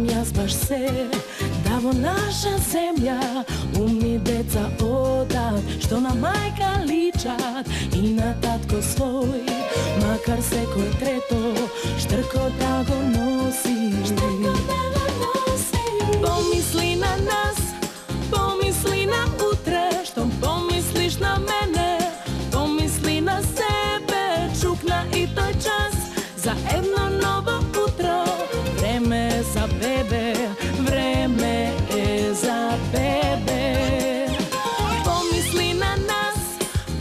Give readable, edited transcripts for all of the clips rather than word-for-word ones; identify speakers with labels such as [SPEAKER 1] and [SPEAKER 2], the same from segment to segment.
[SPEAKER 1] сакам јас баш се, да во наша земја умни деца одат, што на мајка личат и на татко свој, макар секој трето штрко да го носи. Помисли на нас, помисли на утре, што помислиш на мене, помисли на себе, чукна и тој час за едно ново утро. Време е за бебе, време е за бебе. Помисли на нас,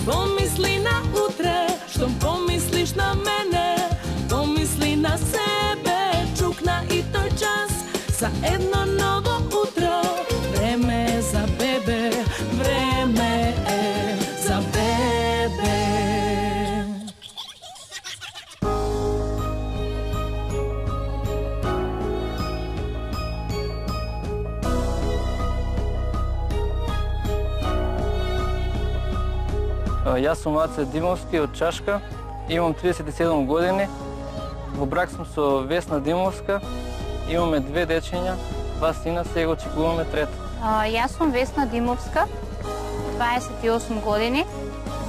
[SPEAKER 1] помисли на утре, што помислиш на мене, помисли на себе, чукна и тој час за едно ново утро. Време е за бебе, време е за бебе.
[SPEAKER 2] Јас сум Аце Димовски од Чашка, имам 37 години. Во брак сум со Весна Димовска, имаме 2 дечиња, 2 сина, сега очекуваме трето.
[SPEAKER 3] Јас сум Весна Димовска, 28 години,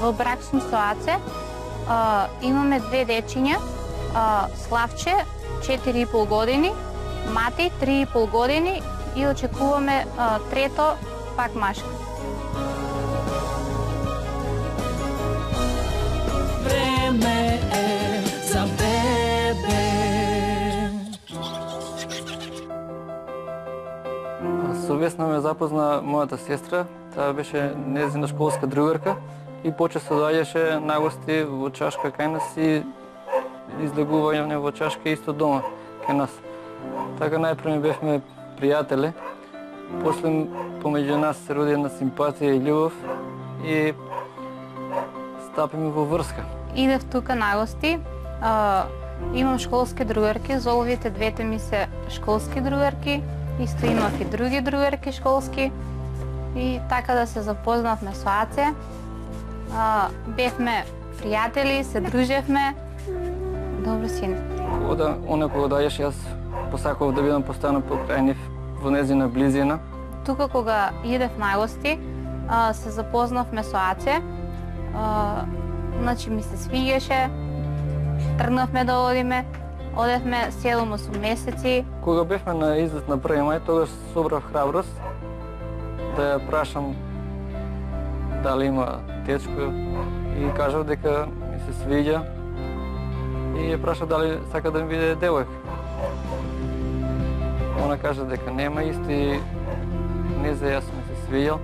[SPEAKER 3] во брак сум со Аце, имаме 2 дечиња, Славче 4,5 години, Мати 3,5 години и очекуваме трето, пак машка.
[SPEAKER 1] Време е за бебе.
[SPEAKER 2] Со Весна ме запозна мојата сестра, таа беше нејзина школска другарка и почесто доаѓаше на гости во Чашка кај нас и излегување во Чашка исто дома кај нас. Така најпрво бевме пријатели, после помеѓу нас се роди една симпатија и љубов и стапиме во врска.
[SPEAKER 3] Идев тука на гости, имам школски другарки, золовите двете ми се школски другарки, исто имав и други другарки школски и така да се запознавме со Аце. Бевме пријатели, се дружевме. Добро сине.
[SPEAKER 2] Кога доаѓаш, јас посакував да бидам постојано покрај нив во нејзина близина.
[SPEAKER 3] Тука кога идев на гости, се запознавме со Аце. Значи ми се свиѓаше, тргнавме да одиме, одевме 7-8 месеци.
[SPEAKER 2] Кога бевме на излет на 1 мај, тогаш собрав храброст да ја прашам дали има течко и кажав дека ми се свиѓа и ја прашав дали сака да ми биде девојка. Она кажа дека нема исто и не за јас ми се свиѓал.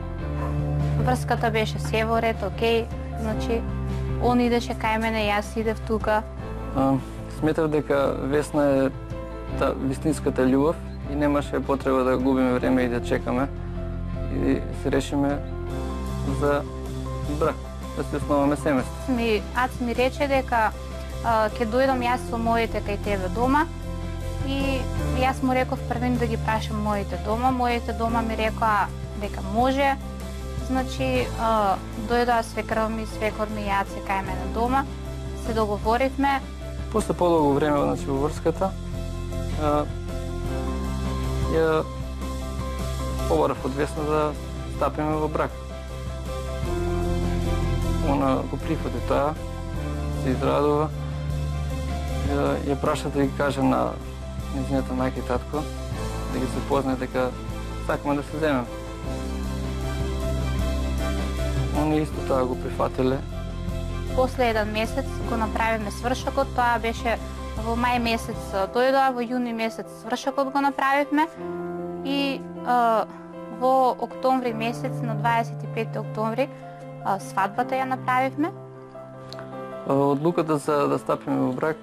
[SPEAKER 3] Врската беше се во ред, окей, значи он идеше кај мене, јас идев тука.
[SPEAKER 2] Сметав дека Весна е вистинската љубов и немаше потреба да губиме време и да чекаме. И се решиме за брак, да се основаме семејство.
[SPEAKER 3] Аце ми рече дека ќе дојдам јас со моите кај тебе дома и јас му реков првен да ги прашам моите дома. Моите дома ми рекоа дека може. Значи, дојдоа свекрва ми, свекор ми и Аце кај мене дома, се договоривме.
[SPEAKER 2] После подолго време, значи, во врската, ја побарав од Весна да стапиме во брак. Она го прифати тоа, се израдува, ја праша да ги каже на нејзината мајка и татко, да ги запознае дека сакаме да се земеме. Они исто тоа го прифатиле.
[SPEAKER 3] После 1 месец го направиме свршокот, тоа беше во мај месец дојдоа, во јуни месец свршокот го направивме и во октомври месец, на 25 октомври, свадбата ја направивме.
[SPEAKER 2] Одлуката за да стапиме во брак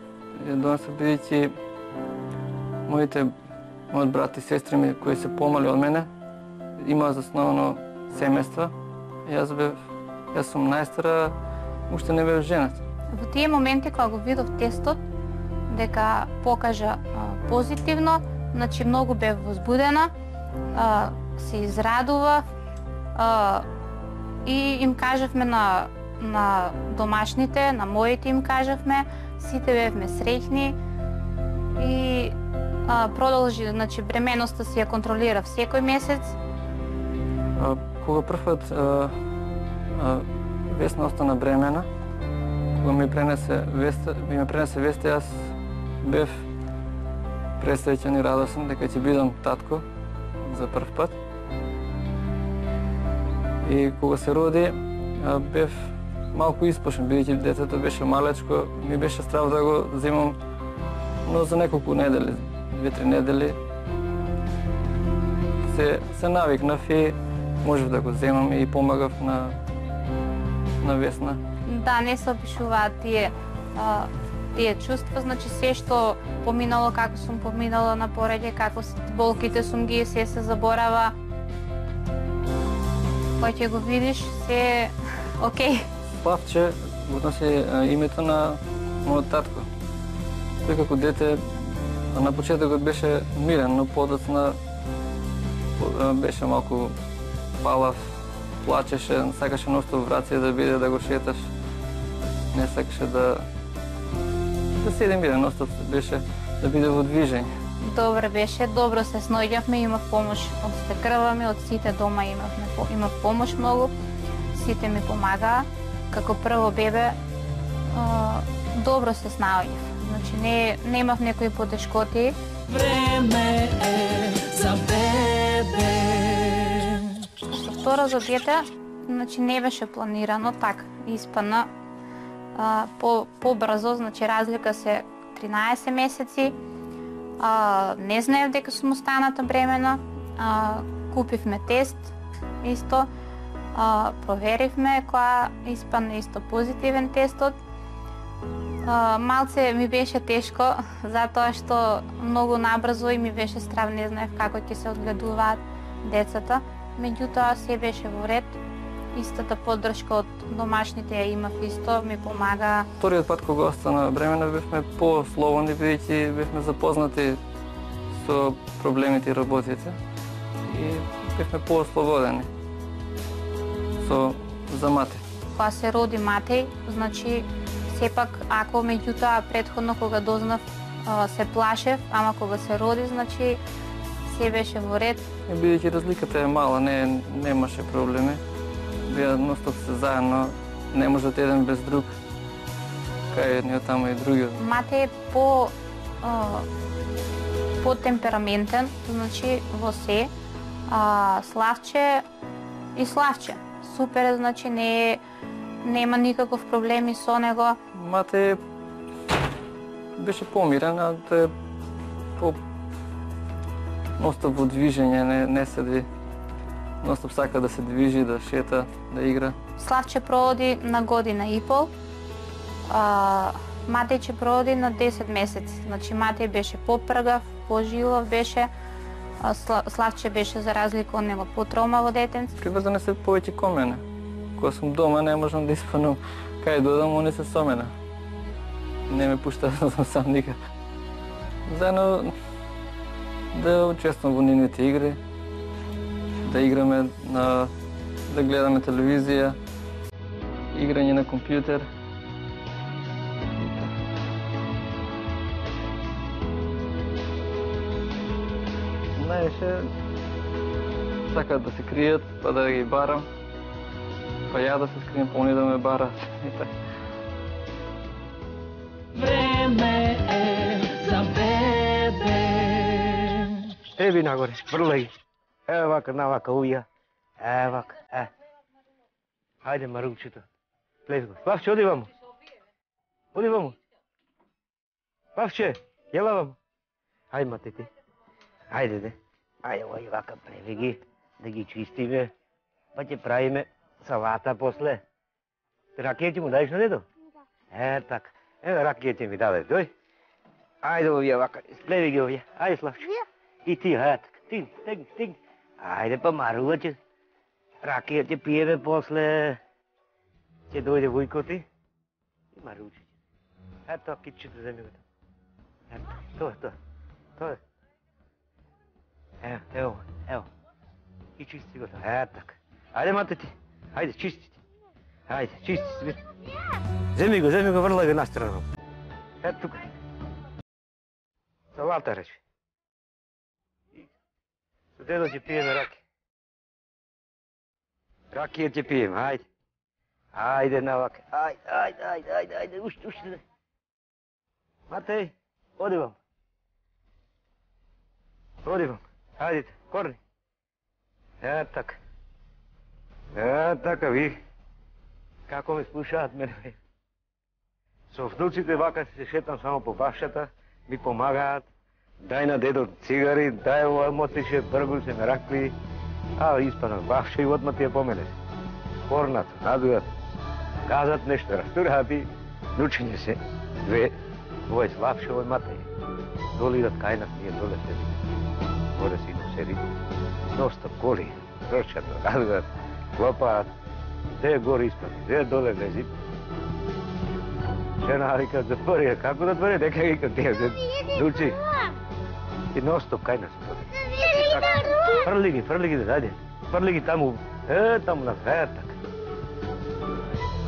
[SPEAKER 2] ја донесе бидејќи мојот брат и сестри ми кои се помали од мене имаа засновано семејства. Јас сум најстара, уште не бев женат.
[SPEAKER 3] Во тие моменти кога го видов тестот, дека покажа позитивно, значи многу бев возбудена, се израдував и им кажавме на домашните, на моите им кажавме, сите бевме среќни и продолжи, значи бременоста си ја контролира секој месец.
[SPEAKER 2] Кога првпат Весна остана бремена, кога ми пренесе веста, јас бев пресреќен и радосен дека ќе бидам татко за прв пат. И кога се роди, бев малку испушен, бидејќи детето беше малечко, ми беше страв да го земам, но за неколку недели, 2-3 недели, се навикнав и можев да го земам и помагав на Весна.
[SPEAKER 3] Да, не се опишуваат тие чувства, значи се што поминало, како сум поминала на пореѓај, како болките сум ги се заборава. Кој ќе го видиш, се окей.
[SPEAKER 2] Славче го носи името на мојот татко. Тој како дете на почетокот беше мирен, но подоцна беше малку палав, плачеше, сакаше ноштов врација да биде, да го шеташ. Не сакаше да седи мирен, ноштов беше да биде во движење.
[SPEAKER 3] Добро беше, добро се сноѓавме, имав помош од стекрваме, од сите дома имав помош многу. Сите ми помагаа. Како прво бебе, добро се снаоѓав. Значи немав некои потешкоти.
[SPEAKER 1] Време е за бебе.
[SPEAKER 3] Со второ за дете, значи не беше планирано, така испадна побрзо, значи разлика се 13 месеци. Не знаев дека сум останата бремена. Купивме тест исто. Проверивме која испадна исто позитивен тестот. Малце ми беше тешко, затоа што многу набрзо и ми беше страв, не знаев како ќе се одгледуваат децата. Меѓутоа се беше во ред. Истата поддршка од домашните ја имав исто, ми помага.
[SPEAKER 2] Вториот пат кога остана бремена бевме по-слободни, бидејќи бевме запознати со проблемите и работите и бевме по-ослободени за Мати.
[SPEAKER 3] Кога се роди Матеј, значи сепак ако меѓутоа претходно кога дознав се плашев, ама кога се роди, значи се беше во ред.
[SPEAKER 2] Бидејќи разликата е мала, немаше проблеми. Бија ностоп се заедно, не можат еден без друг, кај едниот тамо и другиот.
[SPEAKER 3] Матеј е по-темпераментен, значи во се. Славче и Славче. Супер е, значи нема никаков проблеми со него.
[SPEAKER 2] Матеј беше помирен, а тој е ностоп во движење, не седи. Ностоп сака да се движи, да шета, да игра.
[SPEAKER 3] Славче проводи на година и пол. Матеј ќе проводи на 10 месеци. Значи Матеј беше попргав, пожилав беше. Славче беше за разлика од него потромаво детенце.
[SPEAKER 2] Приврзани се повеќе кон мене. Кога сум дома не можам да испанам кај додам, они се со мене. Не ме пушта да сум сам никад. Заедно да учествам во нивните игри, да играме, да гледаме телевизија, играње на компјутер. Најше сакаат да се кријат, па да ги барам, па ја да се скријам, па они да ме барат.
[SPEAKER 1] Време е за бебе.
[SPEAKER 4] Еби нагоре, врлај. Ево вака, навака, уја. Ево вака, Хајде, Маручето. Плез го. Славче, оди вамо. Оди вамо. Славче, јела вамо. Хајде, матете. Хајде, де. Хајде, ој вака, преви ги, да ги чистиме, па ќе правиме салата после. Ракија ќе му дадеш на дедо? Така. Ево, ракија ќе ми даде, дој. Хајде, овие вака, сплеви ги овие. Хајде, Славче. И ти, така. Стигни. Хајде, па Маруваче. Ракија ќе пиеме после. Ќе дојде Вујко ти. И Маруче. Ето, китчето земи го. Ето, тоа е. Ево. И чисти го. Така. Хајде, мате ти. Хајде, чисти ти. Хајде, чисти си. Земи го, врлај го настрано. Ето тука. Салата рече. дедо ќе пиеме раки. Ракија ќе пиеме, ајде. Ајде навака. Ајде, уште. Матеј, оди вам. Ајдете, корни. Така, ви. Како ме слушаат мене. Со внуците вака се шетам само по башата, ми помагаат. Дај на дедо цигари, дај ова мотише, бргу се ме ракли. Испанах бавше и одма ти ја поменеш. Порнат, надујат, казат нешто, растураат и нучиње се. Овој слабше, овој матеј. Доле идат кај нас, ние доле седи. Горе си го седи. Носта коли, рочато, надујат, клопаат. Де горе испани, де доле лези. Жена вика, затвори, како затвори, дека вика тие, дучи. И ностоп кај нас. Фрли ги, дајде. Фрли ги таму, таму на крајат така.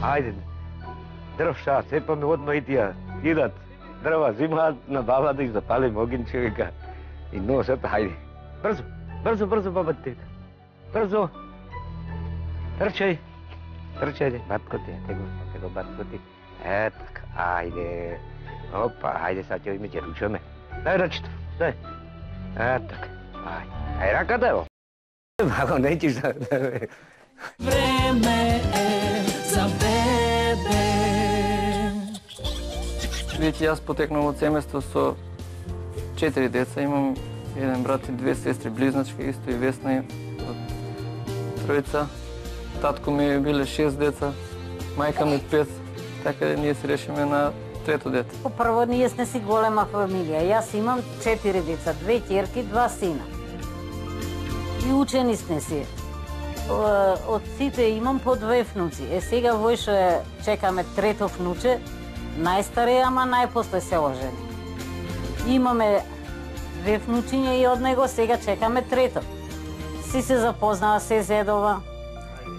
[SPEAKER 4] Ајде, дрвша, сепаме одма и тија, идат, дрва зимаат на баба да их запали огинче, вика. И носат, ајде. Брзо, баба тета. Брзо. Трчај, батко ти, tego батко ти. Така, ајде. Опа, ајде, сад ќе име ќе ручаме. Дај рачето, дај. Така, ајде раката, ево. Маго, неќиш да...
[SPEAKER 1] Време е за бебе.
[SPEAKER 2] Видите, јас потекнав од семејство со 4 деца. Имам еден брат и 2 сестри, близначки, исто и Весна од тројца. Татко ми биле 6 деца, мајка ми 5, така ние се решиме на трето дете.
[SPEAKER 5] Прво, ние сме си голема фамилија. Јас имам 4 деца, 2 ќерки, 2 сина. И учени сме си. Од сите имам по 2 внуци. Сега војше чекаме трето внуче, најстаре, ама најпосле се ожени. Имаме 2 внучиња и од него сега чекаме трето. Си се запознава, се зедова.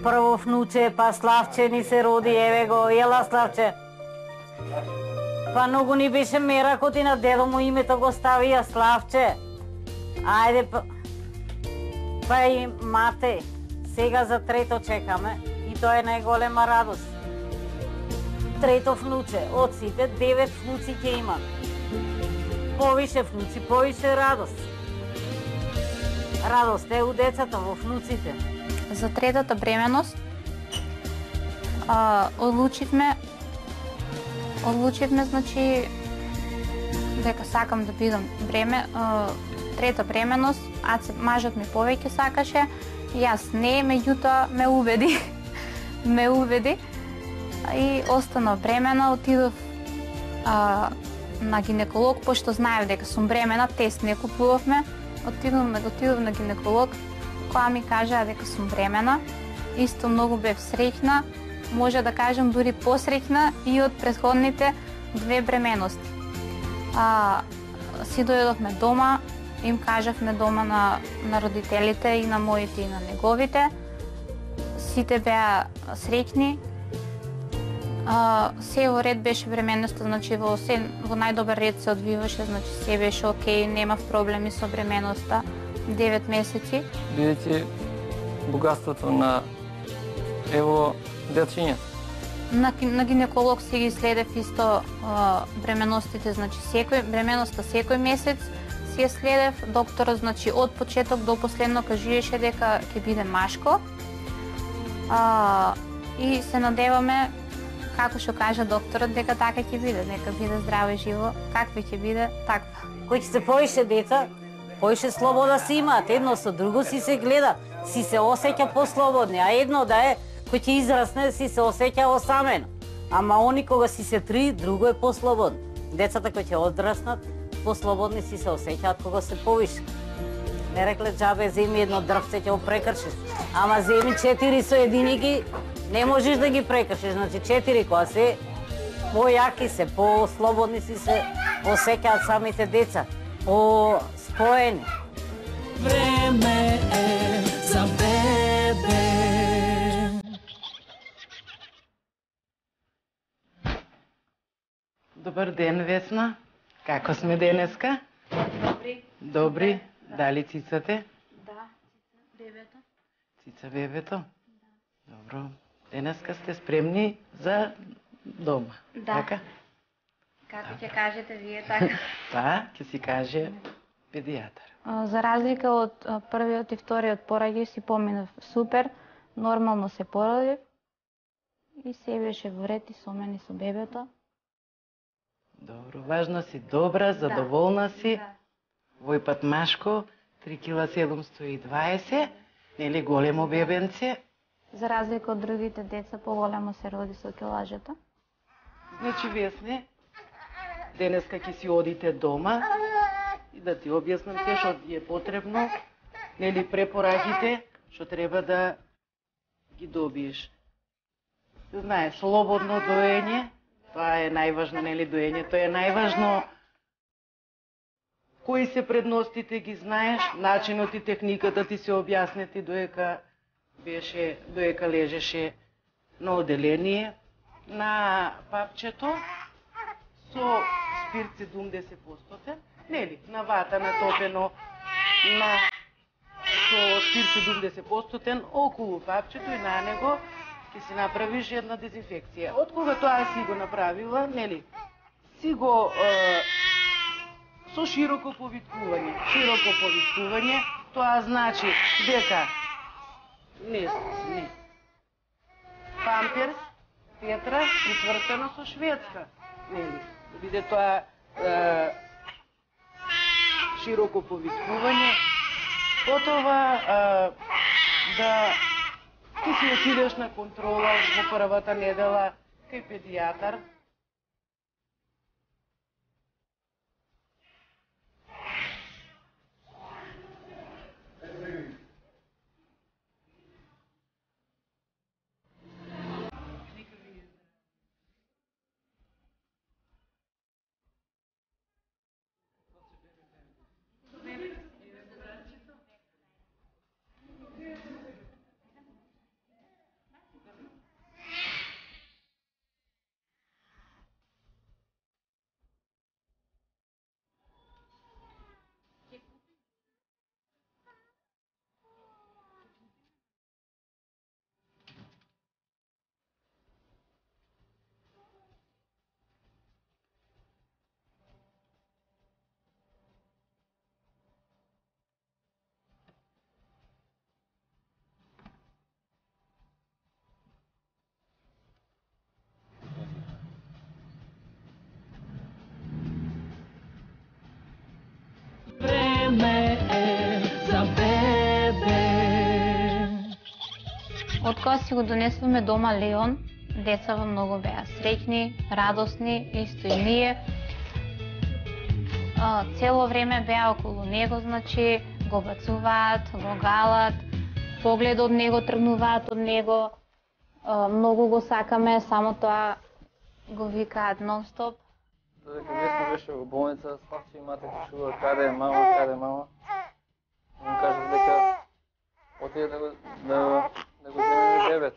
[SPEAKER 5] Прво внуче, па Славче ни се роди, еве го, ела Славче. Па многу ни беше меракот и на дедо му името го ставија Славче. Ајде, па и мате, сега за трето чекаме и тоа е најголема радост. Трето внуче, од сите 9 внуци ќе имаме. Повише внуци, повише радост. Радост е у децата, во внуците.
[SPEAKER 3] За третата бременост одлучивме, значи, дека сакам да бидам трета бременост, мажот ми повеќе сакаше, јас не, меѓутоа ме убеди и останав бремена, отидов на гинеколог, пошто знаев дека сум бремена, тест не купувавме, отидов на гинеколог, која ми кажа дека сум бремена. Исто многу бев среќна, може да кажам дури посреќна и од претходните 2 бременности. Си дојдовме дома, им кажавме дома на родителите и на моите и на неговите. Сите беа среќни. Се во ред беше бременноста, значи во најдобар ред се одвиваше, значи се беше окей, немав проблеми со бременноста. 9 месеци.
[SPEAKER 2] Видите богатството на дечињата.
[SPEAKER 3] На гинеколог си ги следев исто бременностите, значи бременноста секој месец си ја следев. Докторот, значи од почеток до последно кажуваше дека ќе биде машко. И се надеваме, како што кажа докторот, дека така ќе биде, нека биде здраво и живо. Какви ќе биде, таква.
[SPEAKER 5] Кој ќе се повише деца, повише слобода си имаат, едно со друго си се гледа, си се осеќа послободни, а едно да е, кој ќе израсне, си се осеќа осамено. Ама они кога си се 3, друго е послободно. Децата кои ќе одраснат, послободни си се осеќаат кога се повише. Не рекле џабе, земи едно дрвце, ќе го прекршиш. Ама земи 4 со единики, не можеш да ги прекршиш, значи 4 кога се појаки се, послободни си се осеќаат самите деца, споени.
[SPEAKER 1] Време е за бебе.
[SPEAKER 6] Добар ден, Весна. Како сме денеска?
[SPEAKER 3] Добри.
[SPEAKER 6] Добри. Дали цицате?
[SPEAKER 3] Да.
[SPEAKER 6] Сица бебето? Добро. Денеска сте спремни за дома,
[SPEAKER 3] Да.
[SPEAKER 6] така?
[SPEAKER 3] Како ќе кажете вие така?
[SPEAKER 6] Па, ќе си каже педијатар.
[SPEAKER 3] За разлика од првиот и вториот пораѓај си поминав супер, нормално се породив и се беше во ред и со мене и со бебето.
[SPEAKER 6] Добро, важно си добра, задоволна си.
[SPEAKER 3] Да.
[SPEAKER 6] Вој пат машко, 3 кила 720, нели големо бебенце.
[SPEAKER 3] За разлика од другите деца, поголемо се роди со килажето.
[SPEAKER 6] Значи, Весне, денеска ќе си одите дома и да ти објаснам се што ти е потребно, нели препораките што треба да ги добиеш. Знаеш, слободно доење, тоа е најважно, нели доењето е најважно. Кои се предностите ги знаеш, начинот и техниката ти се објаснети доека лежеше на оделение на папчето со спирт 70%, нели, на вата натопено со спирт 70% околу папчето и на него ќе си направиш една дезинфекција. Од кога тоа си го направила, нели, си го со широко повиткување. Широко повиткување, тоа значи дека не. Памперс, Петра, прицвртено со шведска, нели, да биде тоа широко повиткување. Потова да ти си отидеш на контрола во првата недела кај педијатар.
[SPEAKER 1] Време е за бебе.
[SPEAKER 3] Откога си го донесуваме дома Леон, децава многу беа среќни, радосни, исто и ние. Цело време беа околу него, значи го бацуваат, го галат, поглед од него тргнуваат од него. Многу го сакаме, само тоа го викаат нон-стоп.
[SPEAKER 2] Додека Весна беше во болница, Славче и мати кажува каде е мама. Му кажа дека отиде да го земе бебет.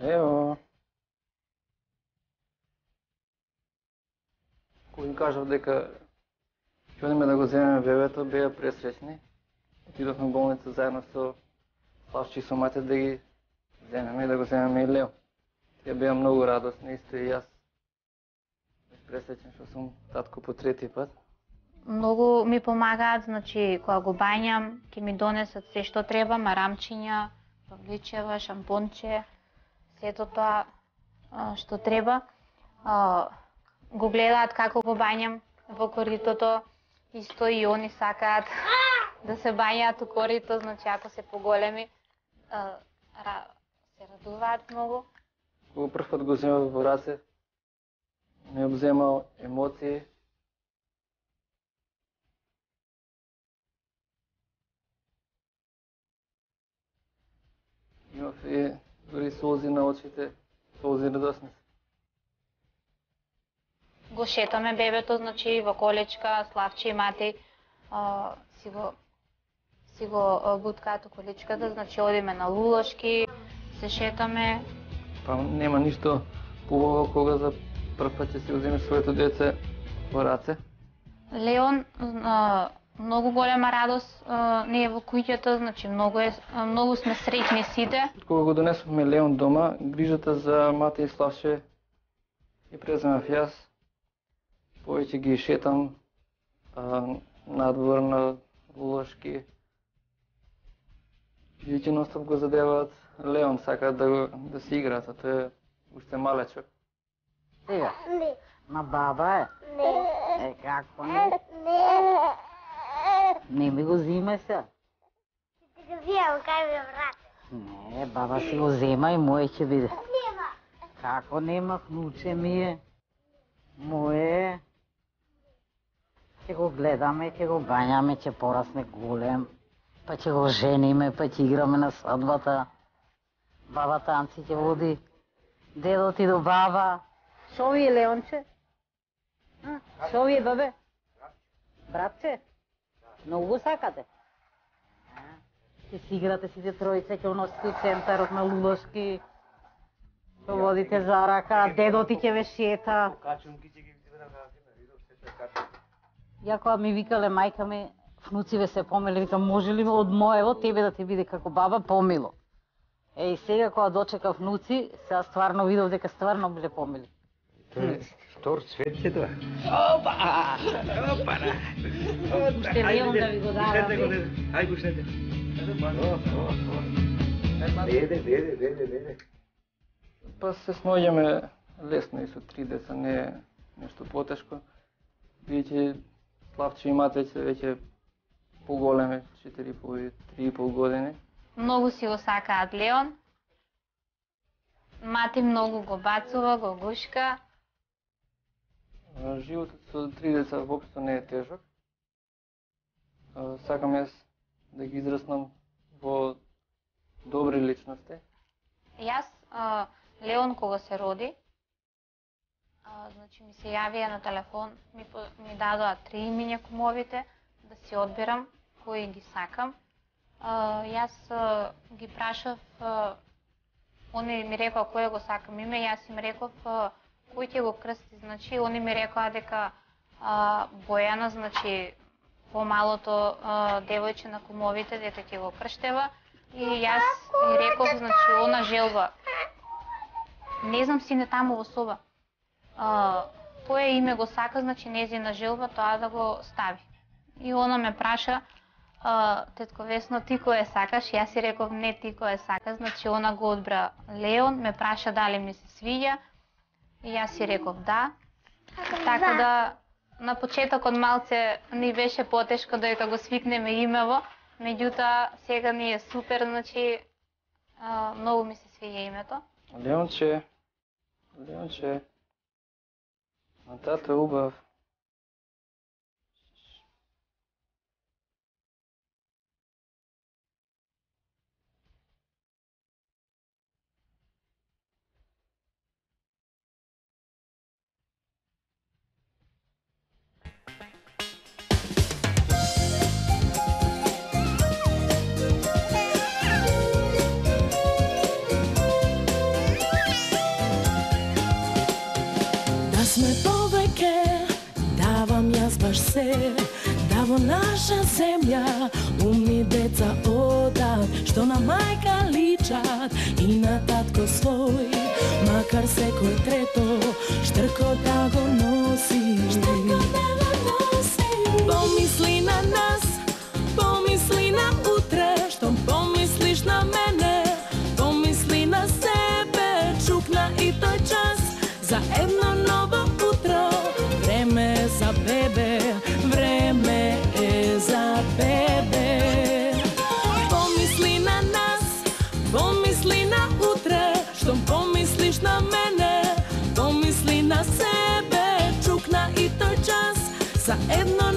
[SPEAKER 2] Ево. Кој им кажав дека ќе одиме да го земеме бебето, беа пресреќни. Отидовме во болница заедно со Славче и со мати да ги земеме и да го земеме и Лео. Тие беа многу радосни, исто и јас. Пресреќен што сум татко по трети пат.
[SPEAKER 3] Многу ми помагаат, значи кога го бањам, ќе ми донесат се што треба, марамчиња, павличева, шампонче, сето тоа што треба. Го гледаат како го бањам во коритото, исто и они сакаат да се бањаат у корито, значи ако се поголеми, се радуваат многу.
[SPEAKER 2] Кога прв пат го земав во раце, ми обземал емоции. Имав и дури солзи на очите, солзи радосни.
[SPEAKER 3] Го шетаме бебето, значи во колечка, Славче и мати си го буткаат околичката, значи одиме на Лулошки, се шетаме.
[SPEAKER 2] Па нема ништо поубаво кога за прв пат ќе си го земеш своето дете во раце.
[SPEAKER 3] Леон многу голема радост не е во куќата, значи многу сме среќни сите.
[SPEAKER 2] Кога го донесовме Леон дома, грижата за Мате и Славче ја преземав јас. Повеќе ги шетам надвор на Лулошки. Веќе ностоп го задеваат. Леон сака да си играат, а тој е уште малечок.
[SPEAKER 5] Сега? На баба е? Не. Како не? Не ми го зиме се.
[SPEAKER 7] Ти го вземам, кај ми брат.
[SPEAKER 5] Не, баба си го зема и моје ќе биде.
[SPEAKER 7] Нема.
[SPEAKER 5] Како нема, внуче ми е. Моје. Ќе го гледаме, ќе го бањаме, ќе порасне голем. Па ќе го жениме, па ќе играме на свадбата. Баба танци ќе води. Дедо ти до баба. Шо ви е, Леонче? Шо ви е, бабе? Братче? Многу го сакате? Ќе си играте сите тројца, ќе уносите у центарот на Лулошки. Ќе водите за рака, дедо ти ќе ве шета. Ја кога ми викале мајка ми, внуциве се помили, викам, може ли од моево тебе да ти биде како баба помило? И сега кога дочека внуци, сега стварно видов дека стварно биле помили.
[SPEAKER 4] Штор цвет се тоа. Опа!
[SPEAKER 5] Уште Леон да ви го дава.
[SPEAKER 4] Ај пуштете. Деде.
[SPEAKER 2] Па се сноѓаме лесно и со 3 деца, не е нешто потешко. Веќе Славче и Мате веќе поголеме, 4,5-3,5 години.
[SPEAKER 3] Многу си го сакаат Леон. Мати многу го бацува, го гушка.
[SPEAKER 2] Животот со 3 деца воопшто не е тежок. Сакам јас да ги израснам во добри личности.
[SPEAKER 3] Јас, Леон кога се роди, значи ми се јавија на телефон, ми дадоа 3 имиња кумовите, да си одбирам кои ги сакам. Јас ги прашав, они ми рекоа кој го сакам име, јас им реков кој ќе го крсти, значи они ми рекоа дека Бојана, значи помалото девојче на кумовите, дете ќе го крштева, и јас ми реков, значи она желба. Не знам сине таму во соба. Тој име го сака, значи незина желба тоа да го стави. И она ме праша, тетко Весно, ти кој сакаш? Јас си реков не, ти кој сакаш, значи она го одбра Леон, ме праша дали ми се свиѓа, и јас си реков да. Така да на почетокот малце ни беше потешко додека го свикнеме имево, меѓутоа сега ни е супер, значи многу ми се свиѓа името.
[SPEAKER 2] Леонче, на тато е убав.
[SPEAKER 1] Сме повеќе, давам јас баш се, да во наша земја умни деца одат, што на мајка личат и на татко свој, макар секој трето штрко да го носи. Помисли на нас, помисли на утре, што помислиш на мене, помисли на себе, чукна и тој час за едно ново утро. Време е за бебе, време е за бебе. Помисли на нас, помисли на утре, што помислиш на мене, помисли на себе, чукна и тој час за едно